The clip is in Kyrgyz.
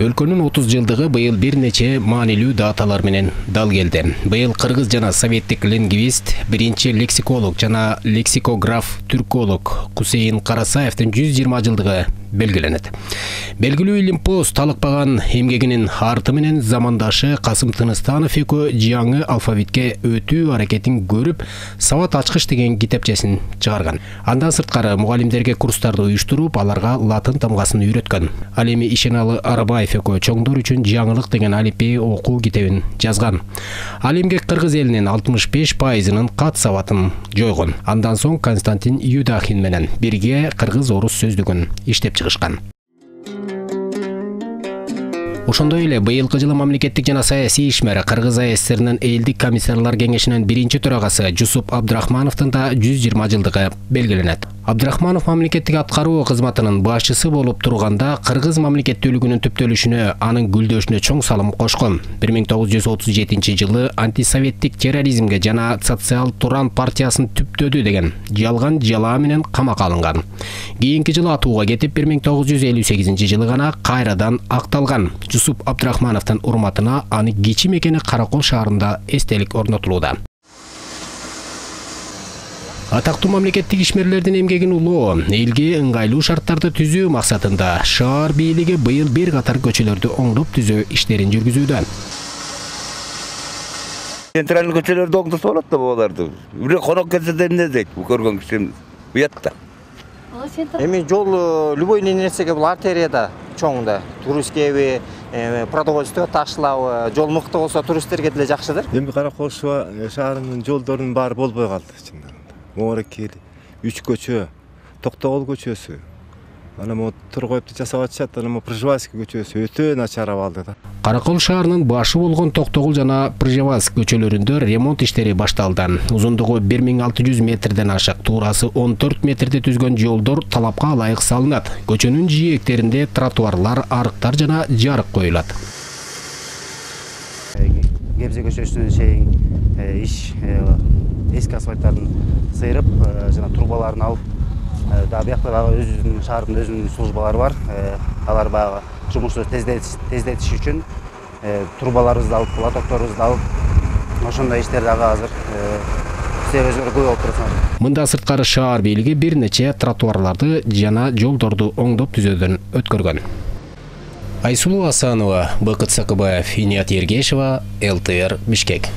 Өлкөнүн 30 жылдыгы быйыл бир нече маанилүү даталар менен дал келди. Быйыл кыргыз жана советтик лингвист, биринчи лексиколог жана лексикограф түрколог Кусейин Карасаевдин 120 жылдыгы белгиленет. Белгилүү илимпоз талыкпаган эмгегинин арты менен замандашы Касым Тыныстанов экөө жаңы алфавитке өтүү аракетин көрүп, сабат ачкыч деген китепчесин чыгарган. Андан сырткары мугалимдерге курстарды уюштуруп, аларга латын тамгасын үйрөткөн. Ал эми Ишеналы Арабаев экөө чоңдор үчүн жаңылык деген алипби окуу китебин жазган. Ал эмгек кыргыз элинин 65%-ынын кат сабатын жойгон. Андан соң Константин Юдахин менен бирге кыргыз-орус сөздүгүн иштеп чыгышкан. Ошондой эле быйылкы жылы мамлекеттик жана саясий ишмер Кыргыз АССРнын элдик комиссарлар кеңешинин биринчи төрагасы Жусуп Абдрахмановдун да 120 жылдыгы белгиленет. Абдрахманов мамлекеттик аткаруу кызматынын башчысы болуп турганда кыргыз мамлекеттүүлүгүнүн түптөлүшүнө, анын гүлдөшүнө чоң салым кошкон. 1937 жылы антисоветтик терроризмге жана социал Туран партиясын түптөдү деген жалган жалаа менен камакка алынган. Кийинки жылы атууга кетип, 1958 жылы гана кайрадан акталган. Жусуп Абдрахмановдун урматына аны кичи мекени Каракол шаарында эстелик орнотулууда. Атактуу мамлекеттик ишмерлердин эмгегин улоо, элге ыңгайлуу шарттарды түзүү максатында шаар бийлиги быйыл бир катар көчөлөрдү оңдоп түзөө иштерин жүргүзүүдө. Централдык көчөлөрдү оңдосо болот да буларды. Бирок конок келсе да эмне дейт, бул көргөн кишим уят да. Эми жол любой нерсеге бул артерияда чоң да. Туристкеби, продовольствие ташылабы, жол мыкты болсо туристтерге деле жакшыдыр. Эми Каракол шаарынын жолдорунун баары болбой калды чындыгында. Моорекел, 3 көчө, Токтогул көчөсү. Ана мо Тургоевду жасап атышат, ана мо Пржевальский көчөсү өтө начар абалда да. Каракол шаарынын башы болгон Токтогул жана Пржевальский көчөлөрүндө ремонт иштери башталды. Узундугу 1600 метрден ашык, туурасы 14 метрди түзгөн жолдор талапка ылайык салынат. Көчөнүн жийектеринде тротуарлар, арыктар жана жарык коюлат. Гебзе көчөсүнөн чейин эски асфальттарын сыйрып, жана трубаларын алып, да биякта өзүнүн шаардын өзүнүн службалары бар. Алар баягы жумушту тездетиш үчүн трубаларыбызды алып, лотокторубузду алып, ошондой иштер дагы азыр себебиз көп болуп турат. Мында сырткары шаар бийлиги бир нече тротуарларды жана жолдорду оңдоп түзөөдөн өткөргөн. Айсулуу Асанова, Бакыт Сакыбаев, Иният Ергешева, ЛТР, Бишкек.